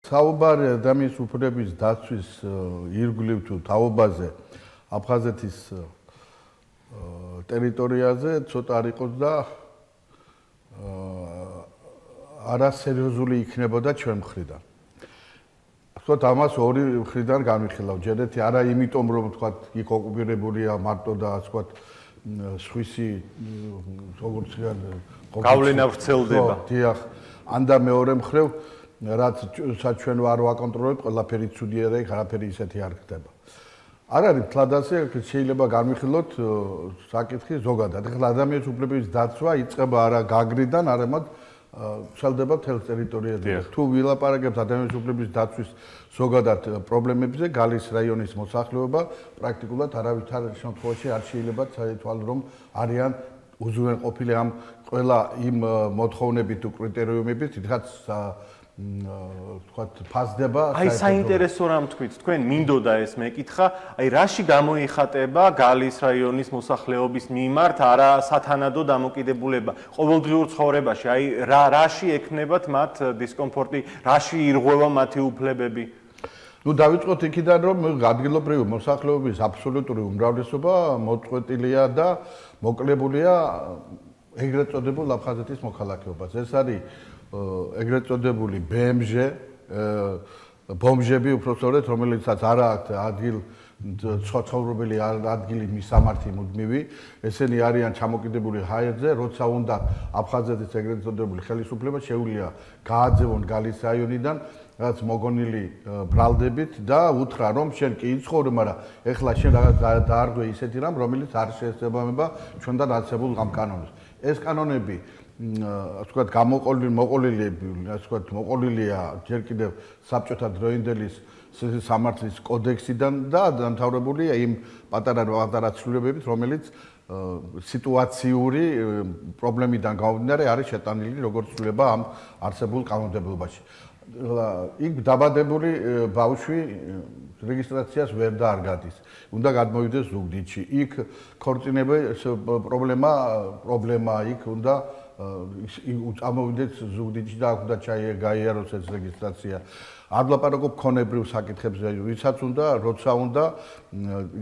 საუბარი ადამიანის უფლების დაცვის ირგვლივ თუ თაობაზე აფხაზეთის ტერიტორიაზე ცოტა არ იყოს და არასერიოზული იქნებოდა ჩვენ მხრიდან. ვთქვათ, ამას ორი მხრიდან განვიხილავ. ჯერეთი არა იმიტომ, რომ ვთქვათ, იქ ოკუპირებულია მარტო და ვთქვათ, სხვისი როგორც გავლენა ვრცელდება. დიახ, ანდა მეორე მხრივ რაც ჩვენ არ ვაკონტროლებთ, ყველაფერი ცუდია და იქ არაფერი ისეთი არ ხდება. არ არის თლად ასე, შეიძლება განვიხილოთ საკითხი ზოგადად. ეხლა ადამიანის უფლებების დაცვა იწყება არა გაგრიდან, არამედ ვრცელდება მთელ ტერიტორიაზე. თუ ვილაპარაკებთ ადამიანის უფლებების დაცვის ზოგადად პრობლემებზე, გალის რაიონის მოსახლეობა პრაქტიკულად არავითარ შემთხვევაში არ შეიძლება წაითვალო, რომ არიან უზრუნველყოფილი ამ ყველა იმ მოთხოვნებით თუ კრიტერიუმებით, თითქოს ვთქვათ, ფასდება. აი საინტერესო რამ თქვით, თქვენ მინდოდა ეს მეკითხა, აი რაში გამოიხატება გალის რაიონის მოსახლეობის მიმართ არა სათანადო დამოკიდებულება ყოველდღიურ ცხოვრებაში, აი რაში ექნებათ მათ დისკომფორტი, რაში ირღვევა მათი უფლებები? ნუ დავიწყოთ იქიდან, რომ ადგილობრივი მოსახლეობის აბსოლუტური უმრავლესობა მოწყვეტილია და მოკლებულია ეგრეთ წოდებულ აფხაზეთის მოქალაქეობას. ეს არის ეგრეთ წოდებული ბომჟები უпростоრეთ, რომელიცაც არ აქვს ადგილ ცხოვრობილი ადგილი მისამართი მუდმივი, ესენი არიან ჩამოკიდებული ჰაერზე, როცა უნდა აფხაზეთის ეგრეთ წოდებული ხელისუფლება შეუძლია გააძევონ გალის რაიონიდან რაც მოგონილი ბრალდებით და უთხრა რომ შენ კი იცხოვრი, მაგრამ ეხლა შენ რაღაც დაარღვე ისეთი რამ, რომელიც არ შეესაბამება ჩვენთან არსებულ ამ კანონებს. ეს კანონები ვთქვათ, მოყოლილია ჯერ კიდევ საბჭოთა დროინდელის სამართლის კოდექსიდან და დამთავრებულია იმ პატარა ცვლილებებით, რომელიც სიტუაციური პრობლემიდან გამომდინარე არის შეტანილი როგორც ცვლილება ამ არსებულ კანონმდებლობაში. იქ დაბადებული ბავშვი რეგისტრაციას ვერ დაარგადის. უნდა გადმოვიდეს ზუგდიდში. იქ ქორწინების პრობლემა იქ უნდა წამოვიდეს ზუგდიდში და აქ უნდა გაიაროს ეს რეგისტრაცია. არ ვლაპარაკობ ქონებრივ საკითხებზე, ვისაც უნდა, როცა უნდა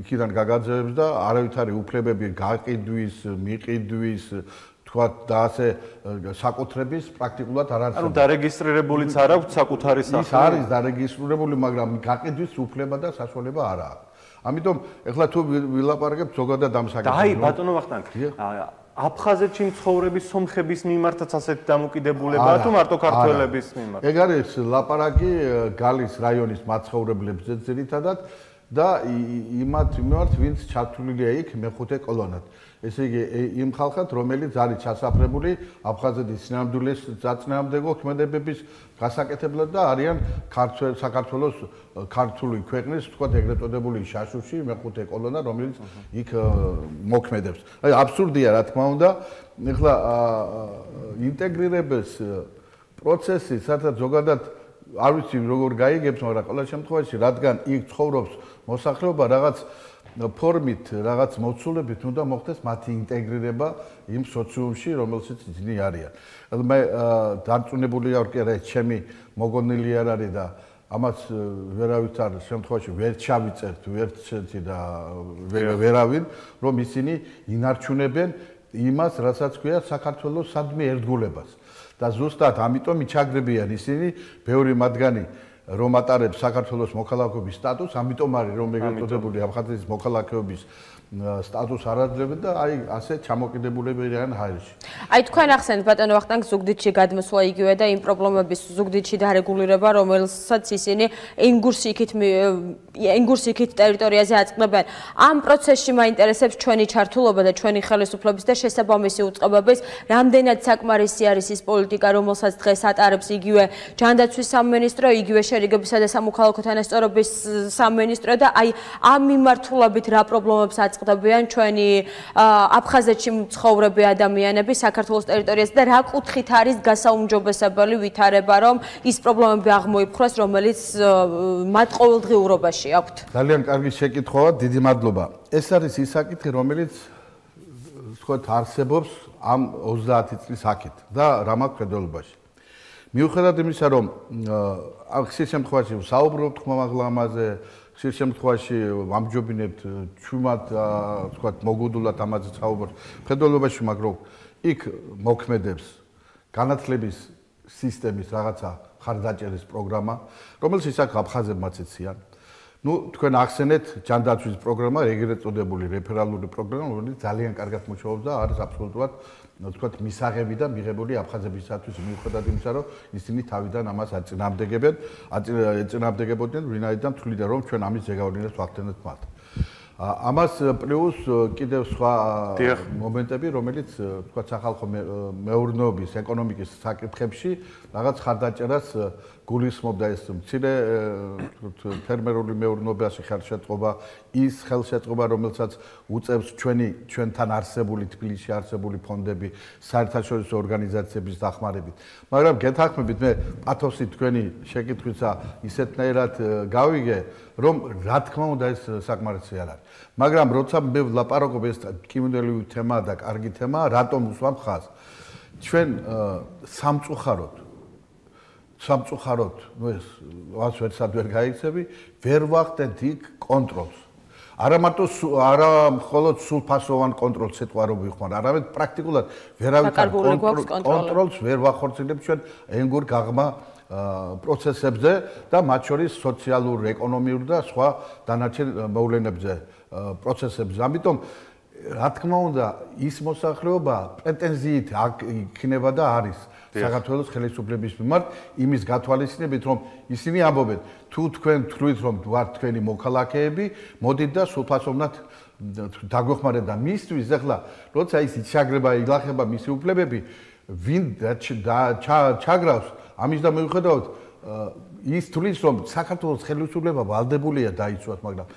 იქიდან გაგაძევებს და არავითარი უფლებები გაყიდვის, მიყიდვის თქვათ და ასე საკუთრების პრაქტიკულად არ არის. ანუ დარეგისტრირებულიც არ აქვს საკუთარი სახლი. ის არის დარეგისტრირებული, მაგრამ გაყიდვის უფლება და საშუალება არ აქვს. ამიტომ ეხლა თუ ვილაპარაკებთ ზოგადად ამ საკითხზე. აი ბატონო ვახტანგ, აფხაზეთში მცხოვრების სომხების მიმართაც ასეთი დამოკიდებულებაა თუ მარტო ქართველების მიმართ? ეგ არის ლაპარაკი გალის რაიონის მაცხოვრებლებზე ძირითადად და იმათ მიმართ, ვინც ჩართულია იქ მეხუთე კოლონად. ესე იგი, იმ ხალხად, რომელიც არის ჩასაფრებული აფხაზეთის სინამდვილეს ქმედებების გასაკეთებლად და არიან საქართველოს ქართული ქვეყნის, ვთქვათ, ეგრეთ წოდებული შაშუში მეხუთე კოლონა, რომელიც იქ მოქმედებს. აი, აბსურდია, რა თქმა უნდა, ეხლა ინტეგრირების პროცესი, სადაც ზოგადად არ ვიცი როგორ გაიგებს, მაგრამ ყველა შემთხვევაში, რადგან იქ ცხოვრობს მოსახლეობა რაღაც ფორმით, რაღაც მოცულებით უნდა მოხდეს მათი ინტეგრირება იმ სოციუმში, რომელშიც ისინი არიან. მე დარწმუნებული ვარ, რომ ჩემი მოგონილი არ არის და ამას ვერავითარ შემთხვევაში ვერ ჩავიწერთ ვერცერთი და ვერავინ, რომ ისინი ინარჩუნებენ იმას, რასაც ქვია საქართველოს სადმე ერთგულებას. და ზუსტად ამიტომ იჩაგრებიან ისინი, ბევრი მათგანი რომ ატარებს საქართველოს მოქალაქეობის სტატუსს, ამიტომ არის რომ ეგრეთ წოდებული აფხაზეთის მოქალაქეობის სტატუსს არ აძლევენ და აი ასე ჩამოკიდებულები არიან ჰაერში. აი თქვენ ახსენეთ ბატონო ვახტანგ ზუგდიდში გადმოსვლა იგივე და იმ პრობლემების ზუგდიდში დარეგულირება, რომელსაც ისინი ენგურს იქით ტერიტორიაზე აწყდებენ. ამ პროცესში მაინტერესებს ჩვენი ჩართულობა და ჩვენი ხელისუფლების და შესაბამისი უწყებების, რამდენად საკმარისი არის ის პოლიტიკა, რომელსაც დღეს ატარებს იგივე ჯანდაცვის სამინისტრო, იგივე შერიგებისა და სამოქალაქო თანასწორობის სამინისტრო და აი ამ მიმართულებით რა პრობლემებს აწყდებიან ჩვენი აფხაზეთში მცხოვრები ადამიანები საქართველოს ტერიტორიაზე და რა კუთხით არის გასაუმჯობესებელი ვითარება, რომ ის პრობლემები აღმოიფხვრას, რომელიც მათ ყოველდღიურობაში აქვთ. ძალიან კარგი შეკითხვაა, დიდი მადლობა. ეს არის ის საკითხი, რომელიც ვთქვათ არსებობს ამ 30 წლის აქეთ და რა მაქვს ხედველობაში. მიუხედავად იმისა, რომ ხშირ შემთხვევაში საუბრობთ ხმამაღლა ამაზე, ხშირ შემთხვევაში ამჯობინებთ ჩვენად, თქვათ, მოგუდულად ამაზე საუბრობთ. მხედველობაში მაგრამ იქ მოქმედებს განათლების სისტემის რაღაცა ხარდაჭერის პროგრამა, რომელშიც აქ აფხაზებმაც იციან. თქვენ ახსენეთ ჯანდაცვის პროგრამა, ეგრეთ წოდებული რეფერალური პროგრამა, რომელიც ძალიან კარგად მუშაობს და არის აბსოლუტურად, თქვათ, მისაღები და მიღებული აფხაზებისათვის, მიუხედავად იმისა, რომ ისინი თავიდან ამას ეწინააღმდეგებოდნენ, ვინაიდან თვლიდა, რომ ჩვენ ამის ზეგავლენას ვახდენთ მათ. ამას პლუს კიდევ სხვა მომენტები, რომელიც თქვათ სახალხო მეურნეობის, ეკონომიკის საკითხებში რაღაც ხარდაჭერას გულისხმობდა ეს მცირე ფერმერული მეურნეობაში ხელშეწყობა, ის ხელშეწყობა, რომელსაც უწევს ჩვენთან არსებული თბილისში არსებული ფონდები, საერთაშორისო ორგანიზაციების დახმარებით. მაგრამ გეთანხმებით, მე პათოსი თქვენი შეკითხვისა ისეთნაირად გავიგე, რომ რა თქმა უნდა ეს საკმარისი არ არის. მაგრამ როცა მე ვლაპარაკობ ეს კიმუნელური თემაა და კარგი თემაა, რატომ უსვამ ხაზს? ჩვენ სამწუხაროდ, ეს რაც ვერცად ვერ გაიქცევი, ვერ ვახდენთ იქ კონტროლს. არა მხოლოდ სულფასოვან კონტროლს სიტყვა რო ვიხმარ, არამედ პრაქტიკულად ვერავითარ კონტროლს ვერ ვახორციელებთ ჩვენ ენგურ გაღმა პროცესებზე და მათ შორის სოციალურ, ეკონომიურ და სხვა დანარჩენ მოვლენებზე პროცესებზე. ამიტომ რა თქმა უნდა, ის მოსახლეობა პრეტენზიით იქნება და არის საქართველოს ხელისუფლების მიმართ იმის გათვალისწინებით, რომ ისინი ამბობენ, თუ თქვენ თვლით, რომ ვართ თქვენი მოქალაქეები, მოდით და სულფასოვნად დაგვეხმარეთ და მისთვის ახლა, როცა ის იჩაგრება, ილახება მისი უფლებები, ვინ ჩაგრავს, ამის და მიუხედავად ის თვლის, რომ საქართველოს ხელისუფლება ვალდებულია დაიცვათ, მაგრამ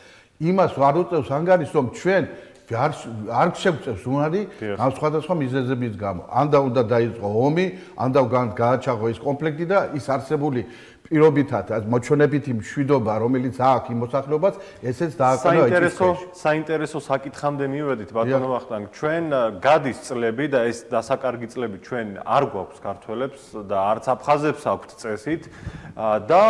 იმას არ უწევს ანგარიშს, რომ ჩვენ არ შეგვწევს უნარი ამ სხვადასხვა მიზეზების გამო. ან და უნდა დაიწყო ომი, ან და გააჩაღო ის კონფლიქტი და ის არსებული პირობითად მოჩვენებითი მშვიდობა, რომელიც აქვს იმ მოსახლეობას, ესეც დააყენა ეჭვი. საინტერესო საკითხამდე მივედით, ბატონო ვახტანგ. ჩვენ გადის წლები და ეს დასაკარგი წლები ჩვენ არ გვაქვს ქართველებს და არც აფხაზებს აქვთ წესით და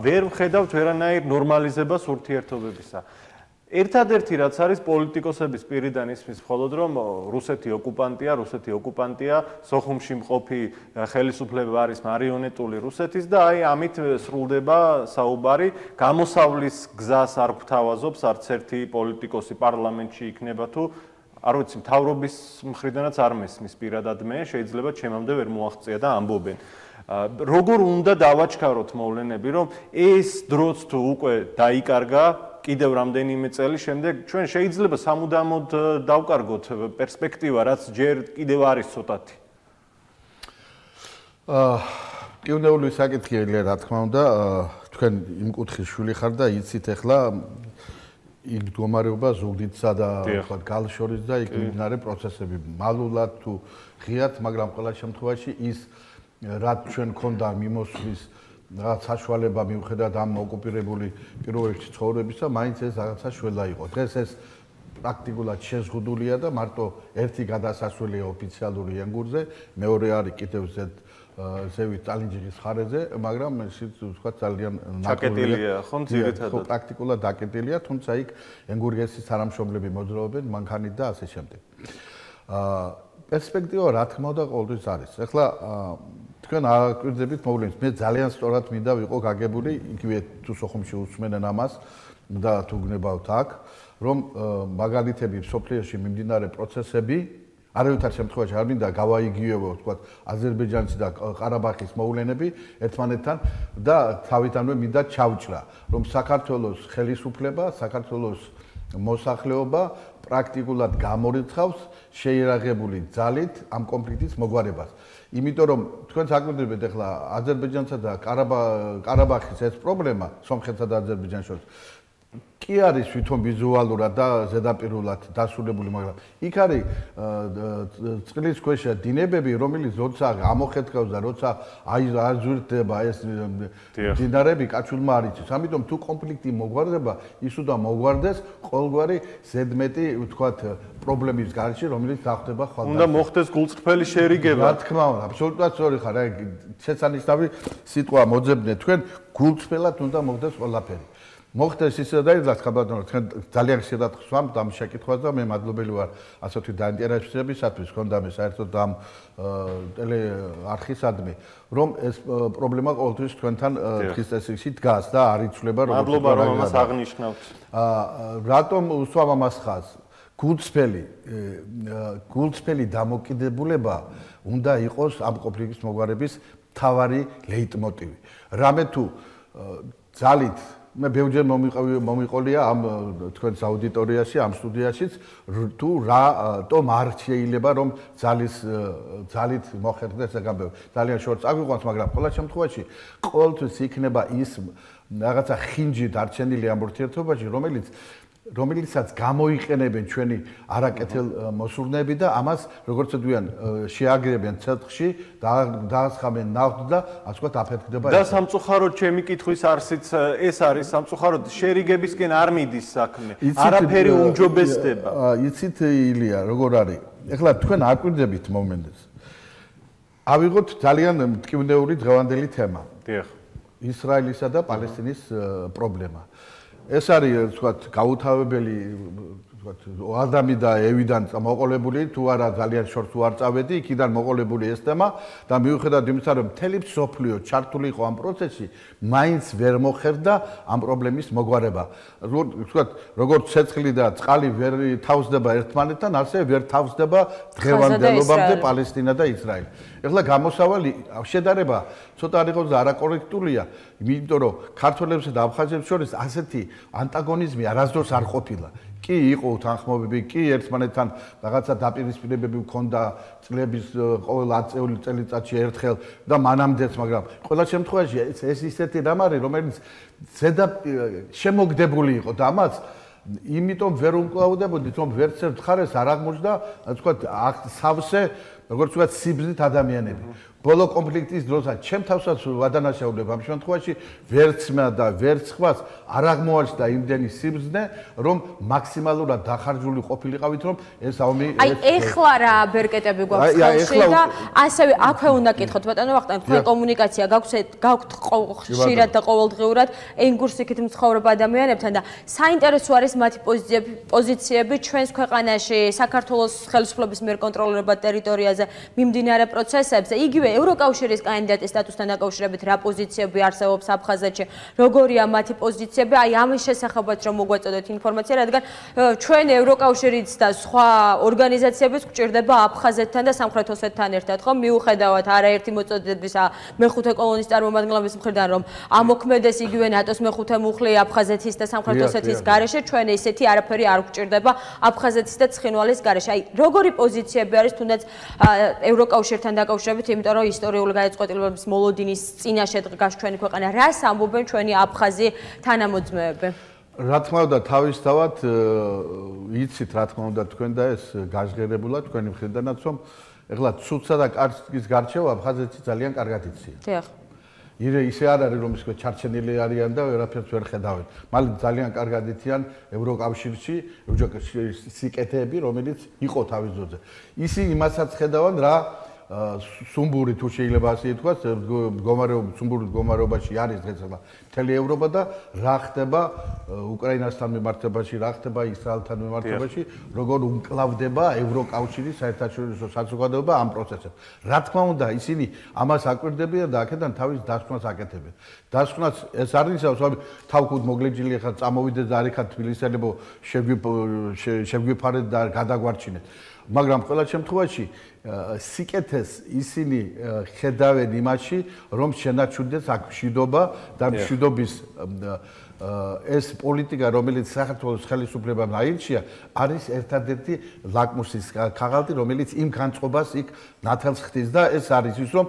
ვერ ვხედავთ ვერანაირ ნორმალიზებას ურთიერთობებისა. ერთადერთი რაც არის პოლიტიკოსების პირიდან ისმის მხოლოდ რომ რუსეთი ოკუპანტია, სოხუმში მყოფი ხელისუფლება არის მარიონეტული რუსეთის და აი ამით სრულდება საუბარი, გამოსავლის გზას არ გვთავაზობს არც ერთი პოლიტიკოსი პარლამენტში იქნება თუ არ ვიცი, მთავრობის მხრიდანაც არ მესმის პირადად მე, შეიძლება ჩემამდე ვერ მოაღწია და ამბობენ. როგორ უნდა დავაჩქაროთ მოვლენები, რომ ეს დროც თუ უკვე დაიკარგა კიდევ რამდენიმე წელი შემდეგ ჩვენ შეიძლება სამუდამოდ დავკარგოთ პერსპექტივა, რაც ჯერ კიდევ არის ცოტათი. კიუნეული საკითხია, რა თქმა უნდა, თქვენ იმ კუთხის შვილი ხარ და იცით ახლა იქ მდგომარეობა ზუგდიდსა და თქვათ გალშორის და იქ მიმდინარე პროცესები მალულად თუ ღიად, მაგრამ ყველა შემთხვევაში ის რაც ჩვენ ქონდა მიმოსვლის რაღაც საშუალება მიუხედავად ამ ოკუპირებული პირობებში ცხოვრებისა, მაინც ეს რაღაცა შველა იყო. დღეს ეს პრაქტიკულად შეზღუდულია და მარტო ერთი გადასასვლელია ოფიციალური ენგურზე, მეორე არის კიდევ ზევით ტალინჯიხის ხარეზე, მაგრამ ისიც ვთქვათ ძალიან დაკეტილია, ხო, ძირითადად. ხო, პრაქტიკულად დაკეტილია, თუმცა იქ ენგურგესის თანამშრომლები მოძრაობენ, მანქანით და ასე შემდეგ. პერსპექტივა რა თქმა უნდა ყოველთვის არის. ახლა თქვენ აკვირდებით მოვლენებს. მე ძალიან სწორად მინდა ვიყო გაგებული, იგივე თუ სოხუმში უსმენენ ამას და თუ გნებავთ აქ, რომ მაგალითები სოფლიოში მიმდინარე პროცესები არავითარ შემთხვევაში არ მინდა გავაიგივებო, თქვათ, აზერბაიჯანის და ყარაბაღის მოვლენები ერთმანეთთან და თავიდანვე მინდა ჩავჭრა, რომ საქართველოს ხელისუფლება, საქართველოს მოსახლეობა პრაქტიკულად გამორიცხავს შეიარაღებული ძალით ამ კონფლიქტის მოგვარებას. იმიტომ რომ თქვენ საკვირდებთ ახლა აზერბაიჯანსა და ყარაბაღის ეს პრობლემა, სომხეთსა და აზერბაიჯანს შორის კი არის თვითონ ვიზუალურად და ზედაპირულად დასრულებული, მაგრამ იქ არის წყლის ქვეშა დინებები, რომელიც როცა ამოხეთქავს და როცა არ ზვირდება ეს დინარები კაჩულმა არ იცის. ამიტომ თუ კონფლიქტი მოგვარდება, ის უნდა მოგვარდეს ყოველგვარი ზედმეტი, ვთქვათ, პრობლემის გარშე, რომელიც დახდება ხვალ. უნდა მოხდეს გულწრფელი შერიგება. რა თქმა უნდა, აბსოლუტურად სწორი ხარ. აი შესანიშნავი სიტყვა მოძებნე თქვენ, გულწრფელად უნდა მოხდეს ყველაფერი. მოხდეს ისე და ის ხაბადონო თქვენ ძალიან ხშირად ხსვამთ ამ შეკითხვას და მე მადლობელი ვარ ასეთი დაინტერესებისათვის ქონდა მე საერთოდ ამ ტელეარხისადმი რომ ეს პრობლემა ყოველთვის თქვენთან დღის წესრიგში დგას და არ იცვლება როგორც მადლობა რომ ამას აღნიშნავთ. რატომ უსვამ ამას ხაზს? გულწრფელი დამოკიდებულება უნდა იყოს ამ კონფლიქტის მოგვარების მთავარი ლეიტმოტივი. რამე თუ ძალით მე ბევრჯერ მომიყოლია ამ თქვენს აუდიტორიაში, ამ სტუდიაშიც თუ რატომ არ შეიძლება რომ ძალით მოხერხდეს ეს გამბები. ძალიან შორს აგვიყვანს, მაგრამ ყველა შემთხვევაში ყოველთვის იქნება ის რაღაცა ხინჯი დარჩენილი ამ ურთიერთობაში, რომელიცაც გამოიყენებენ ჩვენი არაკეთილ მოსურნეები და ამას როგორც ვთქვიან შეაგრებენ ცეცხლში, დაასხამენ ნავთს და ასე ვთქვათ აფეთქდება და სამწუხაროდ ჩემი კითხვის არსიც ეს არის სამწუხაროდ შერიგებისკენ არ მიდის საქმე. არაფერი უმჯობესდება. იცით ილია როგორ არის? ეხლა თქვენ აკვირდებით მომენტს. ავიღოთ ძალიან მტკივნეული დღევანდელი თემა. დიახ. ისრაელისა და პალესტინის პრობლემა. ეს არის ვთქვათ გაუთავებელი ვთქვათ ადამი და ევიდან მოყოლებული თუ არა ძალიან შორს უარ წავედი იქიდან მოყოლებული ეს თემა და მიუხედავად იმისა რომ მთელი მსოფლიო ჩართული იყო ამ პროცესში მაინც ვერ მოხერდა ამ პრობლემის მოგვარება ვთქვათ როგორც ცეცხლი და წყალი ვერ თავსდება ერთმანეთთან ასე ვერ თავსდება დღევანდელობამდე პალესტინა და ისრაელი ეხლა გამოსავალი შედარება ცოტა არ იყოს და არაკორექტულია იმიტომ რომ ქართველებსა და აფხაზებს შორის ასეთი ანტაგონიზმი არასდროს არ ყოფილა კი იყო თანხმობები კი ერთმანეთთან რაღაცა დაპირისპირებები ჰქონდა წლების ყოველ 10 წელიწადში ერთხელ და მანამდეც მაგრამ ყველა შემთხვევაში ეს ისეთი რამ არის რომელიც ზედა შემოგდებული იყო და ამას იმიტომ ვერ უმკლავდებოდით რომ ვერც ერთ მხარეს არ აღმოჩნდა თქვა სავსე როგორც ვთქვათ სიბრძნით ადამიანები ბოლო კონფლიქტის დროსაც ჩემ თავსაც ვადანაშაულებ ამ შემთხვევაში ვერცმა და ვერც ხვას არ აღმოაჩნდა იმდენი სიბრძნე რომ მაქსიმალურად დახარჯული ყოფილიყავით რომ ეს ომი აი ეხლა რა ბერკეტები გვაქვს ხელში და ასევე აქვე უნდა კითხოთ ბატონო ვახტანგ თქვენ კომუნიკაცია გაქვთ ხშირად და ყოველდღიურად ენგურსიქით მცხოვრებ ადამიანებთან და საინტერესო არის მათი პოზიციები ჩვენს ქვეყანაში საქართველოს ხელისუფლების მიერ კონტროლირებად ტერიტორიაზე მიმდინარე პროცესებზე იგივე ევროკავშირის კანდიდატის სტატუსთან დაკავშირებით რა პოზიციები არსებობს აფხაზეთში, როგორია მათი პოზიციები, აი ამის შესახებაც რომ მოგვაწოდოთ ინფორმაცია, რადგან ჩვენ ევროკავშირიც და სხვა ორგანიზაციებიც გვჭირდება აფხაზეთთან და სამხრეთ ოსეთთან ერთად, ხო, მიუხედავად არაერთი მოწოდების მეხუთე კოლონის წარმომადგენლების მხრიდან რომ ამოქმედეს იგივე ნატოს მეხუთე მუხლი აფხაზეთის და სამხრეთ ოსეთის გარეშე, ჩვენ ესეთი არაფერი არ გვჭირდება აფხაზეთის და ცხინვალის გარეშე. აი როგორი პოზიციები არის თუნდაც ევროკავშირთან დაკავშირებით, იმიტომ რომ ისტორიული გადაწყვეტილებების მოლოდინის წინაშე დგას ჩვენი ქვეყანა. რას ამბობენ ჩვენი აფხაზი თანამოძმეები? რა თქმა უნდა, თავისთავად იცით რა თქმა უნდა თქვენ და ეს გაჟღერებულა თქვენი მხრიდანაც რომ ეხლა ცუცსა და კარგის გარჩევა აფხაზეთში ძალიან კარგად იციან. დიახ. ისე არ არის რომ ისე ჩარჩენილი არიან და ვერაფერს ვერ ხედავენ. მალე ძალიან კარგად იციან ევროკავშირში სიკეთეები, რომელიც იყო თავის ძოზე. ისინი იმასაც ხედავენ რა სუმბური თუ შეიძლება ასე ითქვას, სუმბურის მდგომარეობაში არის დღეს მთელი ევროპა და რა ხდება უკრაინასთან მიმართებაში, რა ხდება ისრაელთან მიმართებაში, როგორ უმკლავდება ევროკავშირის საერთაშორისო საზოგადოება ამ პროცესებს. რა თქმა უნდა, ისინი ამას აკვირდებიან და აქედან თავის დასკვნას აკეთებენ. დასკვნას ეს არ ნიშნავს, რომ თავკუთ მოგლეჯილი ხარ, წამოვიდეთ და არიქა თბილისელებო შეგვიფარეთ და გადაგვარჩინეთ. მაგრამ ყველა შემთხვევაში სიკეთეს ისინი ხედავენ იმაში, რომ შენაჩვენდეს აქ მშვიდობა და მშვიდობის ეს პოლიტიკა, რომელიც საქართველოს ხელისუფლებამ აირჩია, არის ერთადერთი ლაკმუსის ქაღალდი, რომელიც იმ განწყობას იქ ნათელს ხდის და ეს არის ის, რომ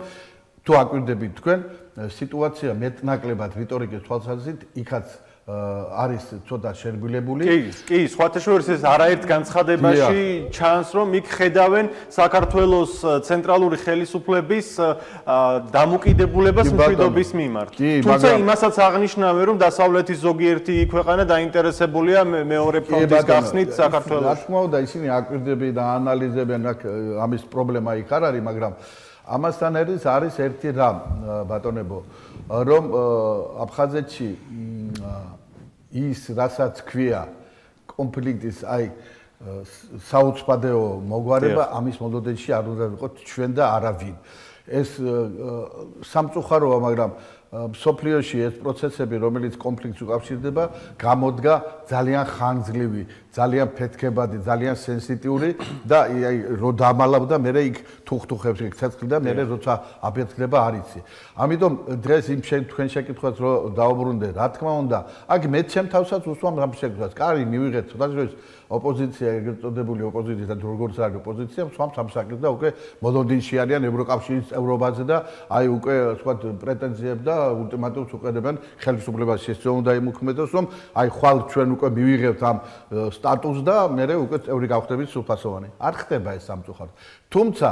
თუ აკვირდებით თქვენ, სიტუაცია მეტნაკლებად რიტორიკის თვალსაზრისით იქაც არის ცოტა შერბილებული. კი, სხვათა შორის ეს არაერთ განცხადებაში ჩანს, რომ იქ ხედავენ საქართველოს ცენტრალური ხელისუფლების დამოკიდებულებას მშვიდობის მიმართ. თუმცა იმასაც აღნიშნავენ, რომ დასავლეთის ზოგიერთი ქვეყანა დაინტერესებულია მეორე ფრონტის გახსნით საქართველოს. რა თქმა უნდა, ისინი აკვირდებიან და ანალიზებენ, ამის პრობლემა იქ არ არის, მაგრამ ამასთან არის ერთი რამ, ბატონებო, რომ აფხაზეთში ის რასაც ქვია კონფლიქტის საუცხოო მოგვარება ამის მოლოდენში არ უნდა ვიყოთ ჩვენ და არავინ. ეს სამწუხაროა, მაგრამ სოფლიოში ეს პროცესები, რომელიც კონფლიქტს უკავშირდება, გამოდგა ძალიან ხანგრძლივი, ძალიან ფეთქებადი, ძალიან სენსიტიური და რო დამალავდა, მე იქ თუხთუხებს იქ ცეცხლი და მე როცა აფეთქდება არ იცი. ამიტომ დღეს იმ თქვენ შეკითხვას რო დაუბრუნდე, რა თქმა უნდა, აქ მე ჩემ თავსაც უსვამ ამ შეკითხვას. კარი, მივიღეთ, სხვადასხვა ოპოზიცია, ეგრეთ წოდებული ოპოზიცია და როგორც არის ოპოზიცია, swam სამსაკეთს და უკვე მოლონდინში არიან ევროკავშირის წევრობაზე და უკვე სხვა პრეტენზიებს და ულტიმატუმს უყურებენ ხელისუფლებას შესწავლ უნდა იმოქმედოს, რომ ხვალ ჩვენ უკვე მივიღებთ ამ სტატუსს და მე უკვე წევრი გავხდებით სრულფასოვანი. არ ხდება ეს სამწუხაროდ. თუმცა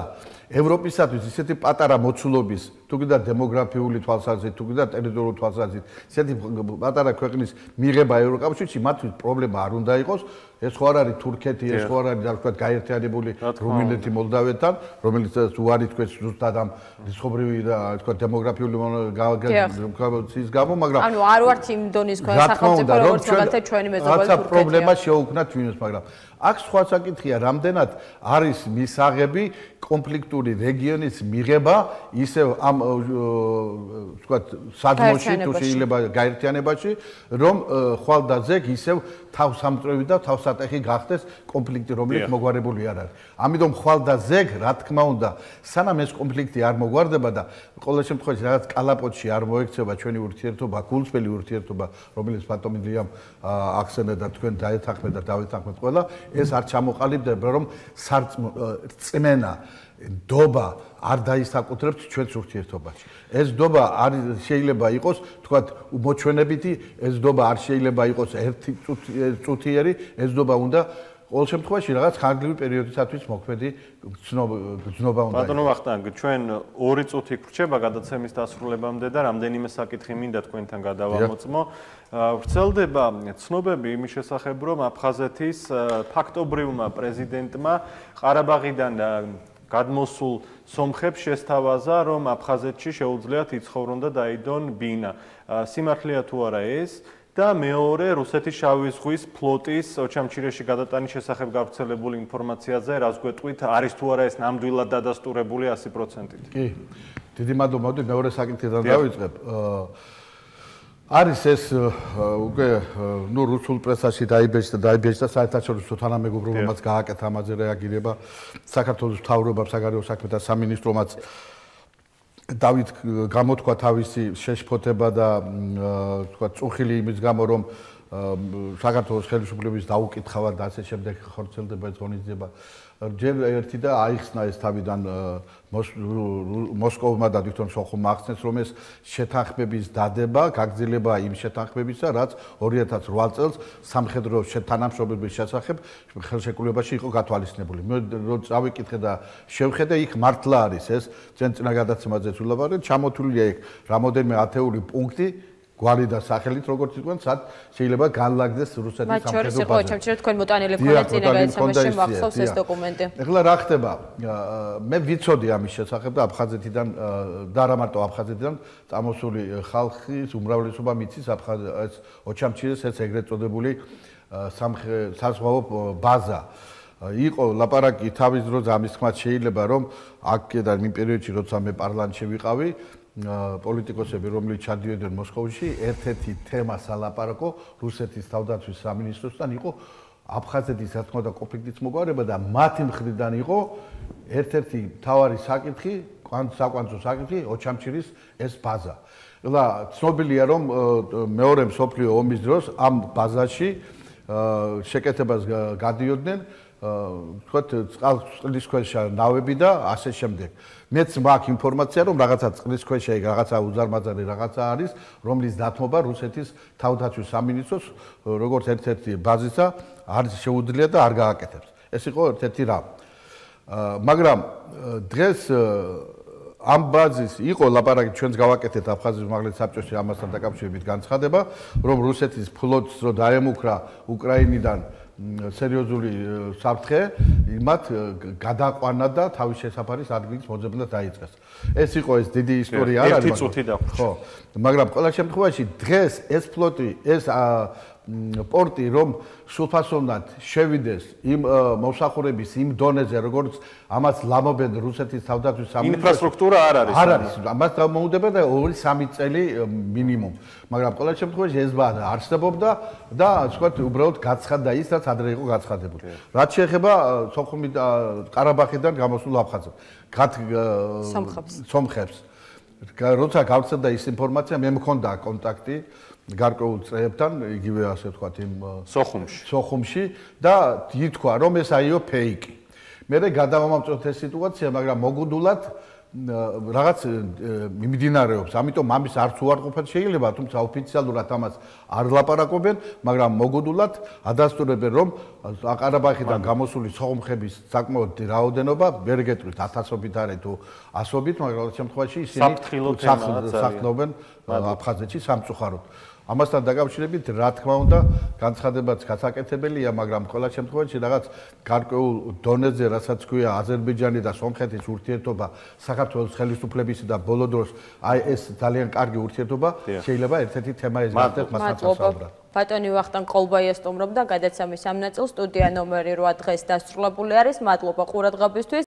ევროპისათვის ისეთი პატარა მოცულობის, თუ კიდე დემოგრაფიული თვალსაზრისით, თუ კიდე ტერიტორიული თვალსაზრისით, ისეთი პატარა ქვეყნის მიღება ევროკავშირში მათთვის პრობლემა არ უნდა იყოს. ეს ხო არ არის თურქეთი, ეს ხო არ არის რა ვთქვათ გაერთიანებული რუმინეთი მოლდავეთთან, რომელიც უარი თქვენს ზუსტად ამ რისხობრივი და რა ვთქვათ დემოგრაფიული გაცის გამო, მაგრამ ანუ არ ვართ იმ დონის სახელმწიფო, როგორც მაგალითად ჩვენი მეზობელი თურქეთია. რაცა პრობლემა შეუქმნათ ვინმეს, მაგრამ აქ სხვა საკითხია, რამდენად არის მისაღები კონფლიქტური რეგიონის მიღება ისევ ამ ვთქვათ სადმოში თუ შეიძლება გაერთიანებაში, რომ ხვალ და ზეგ ისევ თავსამწრევი და თავსატეხი გახდეს კონფლიქტი, რომელიც მოგვარებული არ არის. ამიტომ ხვალ და ზეგ, რა თქმა უნდა, სანამ ეს კონფლიქტი არ მოგვარდება და ყოველ შემთხვევაში რაღაც კალაპოტში არ მოექცევა ჩვენი ურთიერთობა, გულწრფელი ურთიერთობა, რომელიც ბატონი ლიამ ახსენე და თქვენ დაეთანხმეთ და დავეთანხმეთ ყველა, ეს არ ჩამოყალიბდება, რომ წმენა დობა არ დაისაკუთრებს ჩვენს ურთიერთობაში. ეს დობა არ შეიძლება იყოს, თქვათ, მოჩვენებითი, ეს დობა არ შეიძლება იყოს ერთი წუთიერი, ეს დობა უნდა ყოველ შემთხვევაში რაღაც ხანგრძლივი პერიოდისათვის მოქმედი გრძნობა უნდა. ბატონო ვახტანგ, ჩვენ 2 წუთი გრჩება გადაცემის დასრულებამდე და რამდენიმე საკითხი მინდა თქვენთან გადავამოწმო. ვრცელდება ცნობები იმის შესახებ, რომ აფხაზეთის ფაქტობრივმა პრეზიდენტმა ყარაბაღიდან გადმოსულ სომხებს შესთავაზა, რომ აფხაზეთში შეუძლიათ იცხოვრონ და დაიდონ ბინა. სიმართლეა თუ არა ეს? და მეორე რუსეთის შავი ზღვის ფლოტის ოჩამჩირეში გადატანის შესახებ გავრცელებული ინფორმაციაზე რას გვეტყვით, არის თუ არა ეს ნამდვილად დადასტურებული 100%-ით? კი. დიდი მადლობა, მოდი მეორე საკითხიდან დავიწყებ. არის ეს უკვე რუსულ პრესაში დაიბეჭდა საერთაშორისო თანამეგობრობამაც გააკეთა ამაზე რეაგირება საქართველოს მთავრობამ, საგარეო საქმეთა სამინისტრომაც დავით გამოთქვა თავისი შეშფოთება და თქვა წუხილი იმის გამო, რომ საქართველოს ხელისუფლების დაუკითხავად და ასე შემდეგ ხორცელდება ეს ღონისძიება. ჯერ ერთი და აიხსნა ეს თავიდან მოსკოვმა და თვითონ სოხუმმა ახსნეს, რომ ეს შეთანხმების დადება გაგრძელება იმ შეთანხმებისა, რაც 2008 წელს სამხედრო თანამშრომლობის შესახებ ხელშეკრულებაში იყო გათვალისწინებული. მე რო წავიკითხე და შევხედე, იქ მართლა არის ეს ჩვენ წინა გადაცემაზეც ვილაპარაკეთ, ჩამოთვლილია იქ რამოდენიმე ათეული პუნქტი გვარი და სახელით როგორც იყვნენ, სად შეიძლება განლაგდეს რუსეთის სამხედრო ბაზა. მათ შორის იყო ჩამჩერე თქვენ მოტანილებ ხოლმე წინა გადაცემაში მახსოვს ეს დოკუმენტი. ეხლა რა ხდება? მე ვიცოდი ამის შესახებ და აფხაზეთიდან და არა მარტო აფხაზეთიდან წამოსული ხალხის უმრავლესობა მიცის ეს ოჩამჩირეს ეს ეგრეთ წოდებული საზღვაო ბაზა. იყო ლაპარაკი თავის დროზე ამის თქმაც შეიძლება რომ აქედან იმ პერიოდში როცა მე პარლამენტში ვიყავი პოლიტიკოსები, რომლებიც ჩადიოდნენ მოსკოვში, ერთ-ერთი თემა სალაპარაკო რუსეთის თავდაცვის სამინისტროსთან იყო აფხაზეთის რა თქმა უნდა კონფლიქტის მოგვარება და მათი მხრიდან იყო ერთ-ერთი მთავარი საკითხი, საკვანძო საკითხი ოჩამჩირის ეს ბაზა. ეხლა ცნობილია რომ მეორე მსოფლიო ომის დროს ამ ბაზაში შეკეთებას გადიოდნენ თქვათ წყლის ქვეშა ნავები და ასე შემდეგ. მეც მაქვს ინფორმაცია, რომ რაღაცა წყლის ქვეშა იქ რაღაცა უზარმაზარი რაღაცა არის, რომლის დათმობა რუსეთის თავდაცვის სამინისტროს როგორც ერთ-ერთი ბაზისა არის შეუძლია და არ გააკეთებს. ეს იყო ერთ-ერთი რამ. მაგრამ დღეს ამ ბაზის იყო ლაპარაკი ჩვენს გავაკეთეთ აფხაზეთის უმაღლეს საბჭოში ამასთან დაკავშირებით განცხადება, რომ რუსეთის ფლოტს რო დაემუქრა უკრაინიდან სერიოზული საფრთხე, იმათ გადაყვანა და თავის შესაფარის ადგილის მოძებნა დაიწყეს. ეს იყო ეს დიდი ისტორია არ არის. ერთი წუთი დაგვჭირდა. ხო, მაგრამ ყველა შემთხვევაში დღეს ეს ფლოტი, ეს პორტი რომ სულფასოვნად შევიდეს იმ მოსახურების იმ დონეზე, როგორც ამას ლამობენ რუსეთის თავდაცვის სამინისტრო. ინფრასტრუქტურა არ არის. არ არის. ამას გამოუდება და 2-3 წელი მინიმუმ. მაგრამ ყველა შემთხვევაში ეს ბაზა არსებობდა და ასე ვთქვათ, უბრალოდ გაცხადდა ის, რაც ადრე იყო გაცხადებული. რაც შეეხება სოხუმი და ყარაბაღიდან გამოსულ აფხაზებს. სომხებს. როცა გავრცელდა ის ინფორმაცია, მე მქონდა კონტაქტი გარკვეულ წრეებთან, იგივე ასე ვთქვათ, იმ სოხუმში და ითქვა, რომ ეს აიო ფეიკი. მე გადავამამწოთ ეს სიტუაცია, მაგრამ მოგუდულად რაღაც მიმდინარეობს, ამიტომ ამის არც უარყოფა შეიძლება, თუმცა ოფიციალურად ამას არ ლაპარაკობენ, მაგრამ მოგუდულად ადასტურებენ, რომ ყარაბაღიდან გამოსული სოხუმხების საკმაოდ რაოდენობა, ვერ გეტყვით 1000-ობით არის თუ 100-ობით, მაგრამ ამ შემთხვევაში ისინი სახლობენ აფხაზეთში სამწუხაროდ. ამასთან დაკავშირებით, რა თქმა უნდა, განცხადებაც გასაკეთებელია, მაგრამ ყველა შემთხვევაში რაღაც გარკვეულ დონეზე, რასაც ქვია აზერბაიჯანი და სომხეთის ურთიერთობა, საქართველოს ხელისუფლებისა და ბოლო დროს აი ეს ძალიან კარგი ურთიერთობა შეიძლება ერთ-ერთი თემა ეს გახდეს მასთან საუბრად. ბატონი ვახტანგ ყოლბაია სტუმრობდა გადაცემის ამ ნაწილს, სტუდია ნომერი 8 დღეს დასრულებული არის. მადლობა ყურადღებისთვის.